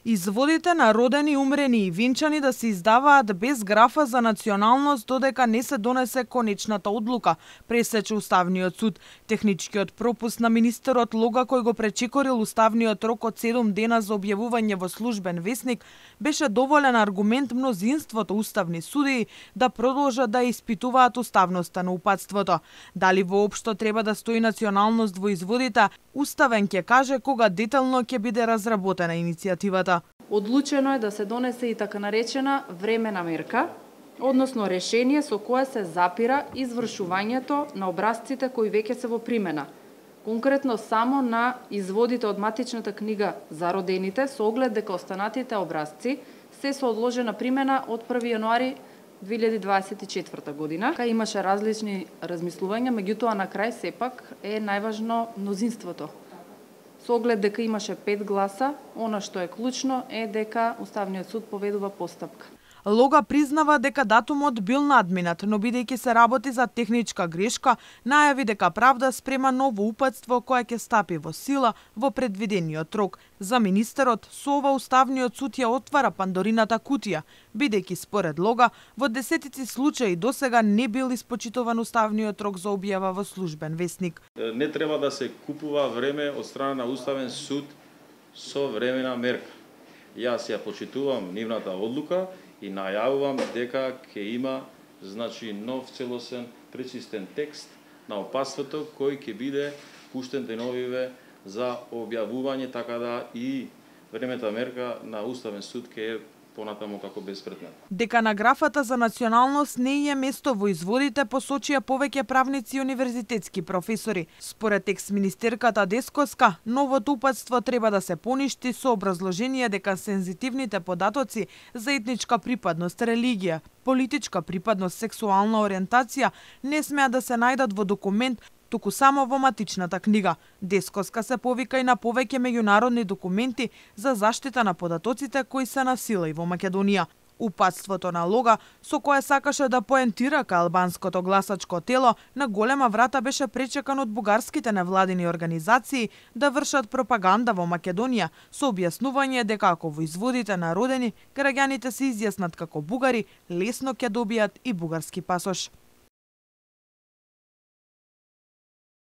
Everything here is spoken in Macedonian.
Изводите на родени, умрени и венчани да се издаваат без графа за националност додека не се донесе конечната одлука, пресече Уставниот суд. Техничкиот пропуст на министерот Лога, кој го пречекорил уставниот рок од 7 дена за објавување во службен весник, беше доволен аргумент мнозинството уставни судии да продолжат да испитуваат уставноста на упатството. Дали воопшто треба да стои националност во изводите, Уставен ќе каже кога детално ќе биде разработена иницијативата. Одлучено е да се донесе и така наречена времена мерка, односно решение со кое се запира извршувањето на образците кои веќе се во примена. Конкретно само на изводите од матичната книга за родените со оглед дека останатите образци се со одложена примена од 1 јануари 2024 година. Имаше различни размислувања, меѓутоа на крај сепак е најважно мнозинството. Со оглед дека имаше 5 гласа, она што е клучно е дека Уставниот суд поведува постапка. Лога признава дека датумот бил надминат, но бидејќи се работи за техничка грешка, најави дека правда спрема ново упатство кое ќе стапи во сила во предвидениот рок. За министерот, со ова Уставниот суд ја отвара Пандорината кутија, бидејќи според Лога во десетици случаи досега не бил испочитуван уставниот рок за објава во службен весник. Не треба да се купува време од страна на Уставен суд со времена мерка. Јас ја почитувам нивната одлука и најавувам дека ќе има нов целосен пречистен текст на опасството кој ќе биде пуштен деновиве за објавување, така да и времета мерка на Уставен суд ќе е понатаму како безпредметна. Дека на графата за националност не е место во изводите, посочија повеќе правници и универзитетски професори. Според екс-министерката Десковска, новото упатство треба да се поништи со образложение дека сензитивните податоци за етничка припадност, религија, политичка припадност, сексуална ориентација не смеат да се најдат во документ, туку само во матичната книга. Десковска се повика и на повеќе меѓународни документи за заштита на податоците кои се на сила и во Македонија. Упатството на Лога, со кое сакаше да поентира ка албанското гласачко тело, на голема врата беше пречекан од бугарските невладини организации да вршат пропаганда во Македонија, со објаснување дека ако во изводите на родени, граѓаните се изјаснат како бугари, лесно ќе добијат и бугарски пасош.